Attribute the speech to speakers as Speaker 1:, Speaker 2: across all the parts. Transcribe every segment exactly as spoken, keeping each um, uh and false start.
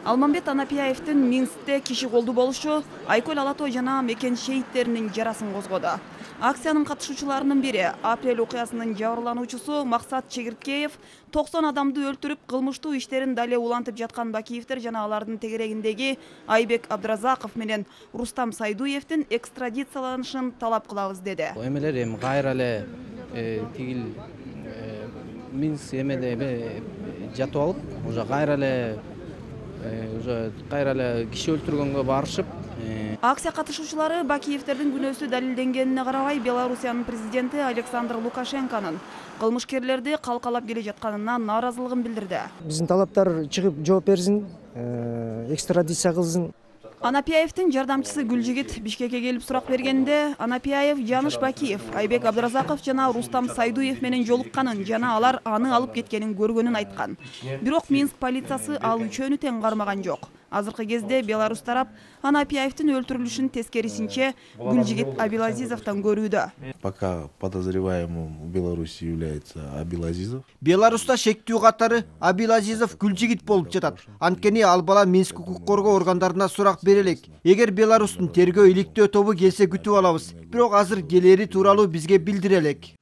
Speaker 1: Алмамбет Анапияевдин Минскте киши колду болушу Айкөл Алатой жана Мекен шейиттеринин жарасын козгоду. Акциянын катышуучуларынын бири апрель окуясынын жабырлануучусу Максат Чегирткеев токсон адамды өлтүрүп, кылмыштуу иштерин дале улантып жаткан Бакиевдер жана алардын тегерегиндеги Айбек Абдразаков менен Рустам Сайдуевдин экстрадицияланышын талап кылабыз деди.
Speaker 2: Эмелер эми кайра эле тигил Минск эмеде жатып алып, уже кайра эле уже кайра эле киши өлтүргөнгө барышып.
Speaker 1: Акция катышуучулары Бакиевдердин күнөөсү далилденгенине карабай Белоруссиянын президенти Александр Лукашенконун кылмышкерлерди калкалап келе жатканына нааразылыгын билдирди.
Speaker 3: Биздин талаптар чыгып жооп берсин, экстрадиция кылсын.
Speaker 1: Анапияевдин жардамчысы Гүлжигит Бишкекке келип сурак бергенде, Анапияев Жаныш Бакиев, Айбек Абдразаков жана Рустам Сайдуев менен жолукканын жана алар аны алып кеткенин көргөнүн айткан. Бирок Минск полициясы ал үчөөнү тең кармаган жок. Азыркы кезде Беларусь тарап Анапияевдин өлтүрүлүшүн тескерисинче Гүлжигит Абилазизовдон көрүүдө.
Speaker 4: Пока подозреваемым в Беларуси является Абилазизов.
Speaker 5: Беларуста шектүү катары Абилазизов Гүлжигит болуп жатат. Анткени ал бала Минск укук коргоо органдарына сурак бере элек. Эгер Беларустун тергөө иликтөө тобу келсе күтүп алабыз. Бирок азыр келери тууралуу бизге билдире элек.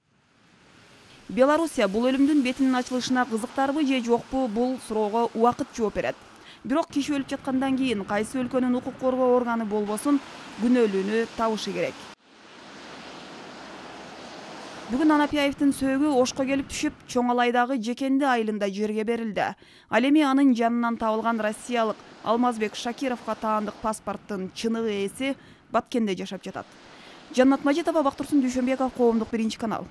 Speaker 1: Белоруссия бул өлүмдүн бетинин ачылышына кызыктарбы же жокпу, бул суроого убакыт жооп берет. Бирок киши өлүп жаткандан кийин кайсы өлкөнүн укук коргоо органы болбосун күнөөлүүнү табышы керек. Бүгүн Анапияевдин сөөгү Ошко келип түшүп, Чоң Алайдагы Жекенди айылында жерге берилди. Ал эми анын жанынан табылган россиялык Алмазбек Шакировго таандык паспорттун чыныгы ээси Баткенде жашап жатат. Жаннат Мажитова, Бактурсун Дүйшөнбеков, Коомдук биринчи канал.